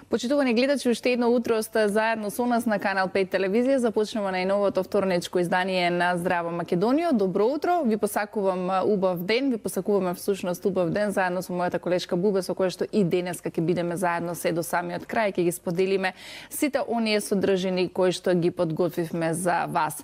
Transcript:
Почитувани гледачи, уште едно утро сте заедно со нас на Канал 5 телевизија. Започнемо најновото вторничко издание на Здраво Македонија. Добро утро, ви посакувам убав ден, ви посакуваме всушност убав ден заедно со мојата колешка Бубе, со која што и денеска ќе бидеме заедно се до самиот крај, ќе ги споделиме сите оние содржини кои што ги подготвивме за вас.